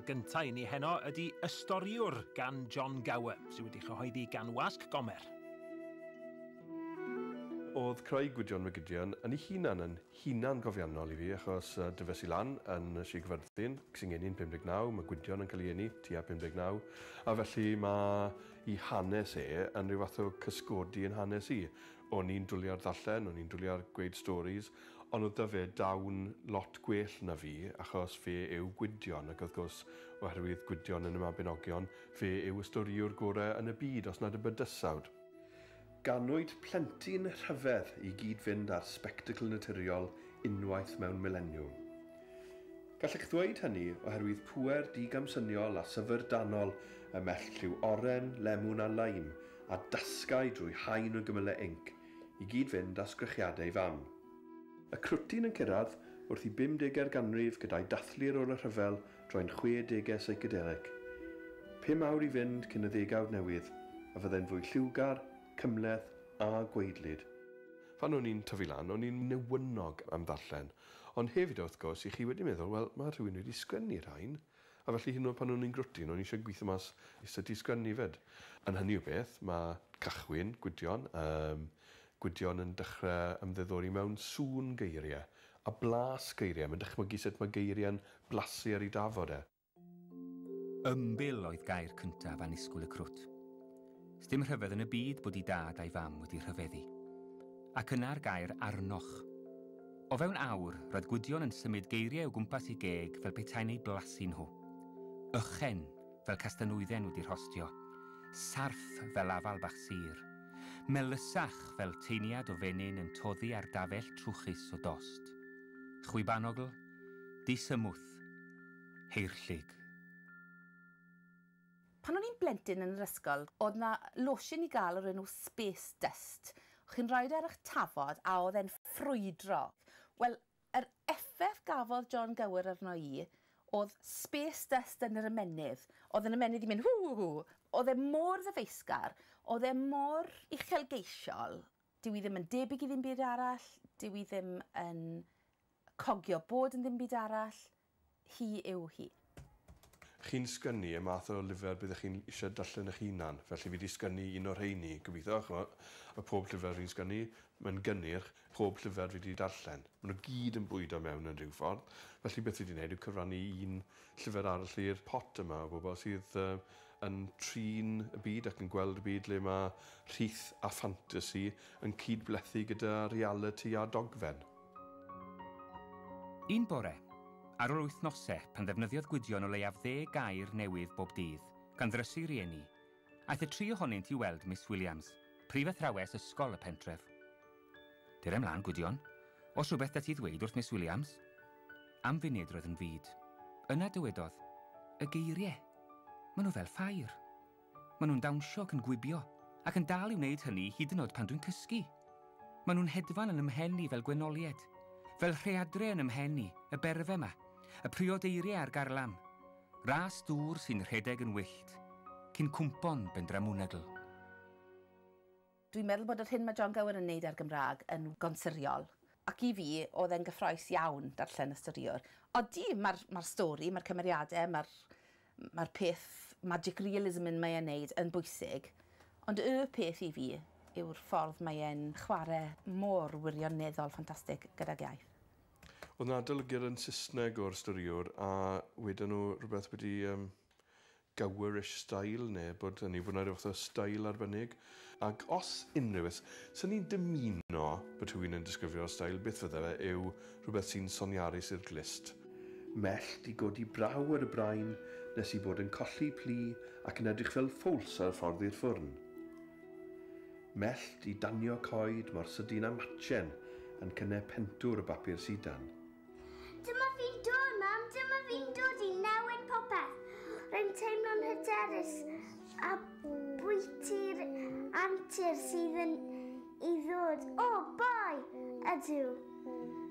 gyntaf i ni heno ydy Y Storïwr gan Jon Gower, sydd wedi chyhoeddi gan Wasg Gomer. Oedd creu Gwydion Mygydion yn ei hunan yn hunan gofiannol i fi, achos dyfes i lan yn Sir Gaerfyrddin, sy'n geni'n 59, mae Gwydion yn cael ei eni tua 59, a felly mae ei hanes e yn rhyw fath o cysgodi yn hanes i. O'n i'n dwlu ar ddarllen, o'n i'n dwlu ar gweud stories, ond oedd 'da fe dawn lot gwell na fi, achos fe yw Gwydion, ac wrth gwrs, oherwydd Gwydion yn y Mabinogion, fe yw y storïwr gorau yn y byd, os nad y bydysawd. Ganwyd plentyn rhyfedd i gyd-fynd â'r sbectacl naturiol unwaith mewn mileniwm. Gallech ddweud hynny oherwydd pŵer digamsyniol a syfrdanol y mellt lliw oren, lemwn a leim a dasgau drwy haen o gymylau inc i gyd-fynd â sgrechiadau fam. Y crwtyn yn cyrraedd wrth i 50au'r ganrif gyda'i dathlu ar ôl y rhyfel droi'n 60au psychedelic. 5 awr i fynd cyn y ddegawd newydd, a fyddai'n fwy lliwgar, cymhleth a gwaedlyd. Pan o'n i'n tyfu lan, o'n i'n newynog am ddarllen. Ond hefyd, wrth gwrs, i chi wedi meddwl, wel, mae rhywun wedi sgwennu rhain. A felly hyd yn oed pan o'n i'n grwtyn, o'n i eisiau gweithio mas sut i sgwennu fyd. Yn hynny o beth, mae Cachwyn, Gwydion, Gwydion yn dechrau ymddiddori mewn sŵn geiriau a blas geiriau. Mae'n dychmygu sut mae geiriau'n blasu ar ei dafod e. Ymbil oedd gair cyntaf annisgwyl y crwt. Sdim rhyfedd yn y byd bod ei dad a'i fam wedi rhyfeddu. Ac yna'r gair arnoch. O fewn awr, roedd Gwydion yn symud geiriau o gwmpas ei geg fel petai'n eu blasu nhw. Ychen, fel castanwydden wedi rhostio. Sarff fel afal bach sur. Melysach fel teiniad o fenyn yn toddi ar dafell trwchus o dost. Chwibanogl, disymwth, heirllig. Pan o'n i'n blentyn yn yr ysgol, oedd na losin i gael o'r enw Space Dust. Chi'n rhoi ar eich tafod a oedd e'n ffrwydro. Wel, yr effaith gafodd Jon Gower arno i oedd Space Dust yn yr ymennydd. Oedd yn ymennydd i mynd hw hw hw. Oedd e mor ddyfeisgar, oedd e mor uchelgeisiol. Dyw i ddim yn debyg i ddim byd arall, dyw i ddim yn cogio bod yn ddim byd arall. Hi yw hi. Chi'n sgynnu y math o lyfr byddech chi'n eisiau darllen eich hunan. Felly fi wedi sgynnu un o'r rheini, gobeithio. Ch'mo', a pob llyfr fi'n sgynnu, mae'n gynnyrch, pob llyfr fi wedi darllen. Maen nhw gyd yn bwydo mewn yn rhyw ffordd. Felly beth fi wedi gwneud yw cyfrannu un llyfr arall i'r pot yma o bobl sydd yn trin y byd ac yn gweld y byd le mae rhith a ffantasi yn cydblethu gyda reality a dogfen. Un bore, ar ôl wythnosau pan ddefnyddiodd Gwydion o leiaf 10 gair newydd bob dydd, gan ddrysu rieni, aeth y tri ohonynt i weld Miss Williams, prifathrawes ysgol y pentref. Dere ymlaen, Gwydion. Os rhywbeth da ti ddweud wrth Miss Williams? Am funud roedd yn fud. Yna dywedodd, y geiriau. Maen nhw fel ffair. Maen nhw'n dawnsio ac yn gwibio, ac yn dal i wneud hynny hyd yn oed pan dwi'n cysgu. Maen nhw'n hedfan yn ymhen i fel gwenolied, fel rheadre yn ymhen i, y berfe yma, y priodeiriau a'r garlam, ras dŵr sy'n rhedeg yn wyllt, cyn cwmpon bendramwnwgl. Dwi'n meddwl bod yr hyn mae Jon Gower yn neud ar Gymraeg yn gonsuriol. Ac i fi, oedd e'n gyffrous iawn darllen y storïwr. Odi, mae'r stori, mae'r cymeriadau, mae'r peth magic realism yn mae e'n neud yn bwysig. Ond y peth i fi yw'r ffordd mae e'n chwarae mor wirioneddol ffantastig gydag iaith. Oedd 'na adolygiad yn Saesneg o'r storïwr a wedon nhw rhywbeth wedi Gowerish style neu bod hynny bod 'na rhyw fath o style arbennig. Ac os unrhyw beth, sy'n ni'n dymuno bod rhywun yn disgrifio'r style, beth fydde fe yw rhywbeth sy'n soniarus i'r glust. Mellt i godi braw ar y brain nes i bod yn colli plu ac yn edrych fel ffowls ar y ffordd i'r ffwrn. Mellt i danio coed mor sydyn â matchen yn cynnau pentwr o bapur sidan. Dyma fi'n dod, mam! Dyma fi'n dod i newid popeth! Rwy'n teimlo'n hyderus a bwyty'r antur sydd yn i ddod. O, boi! Ydw.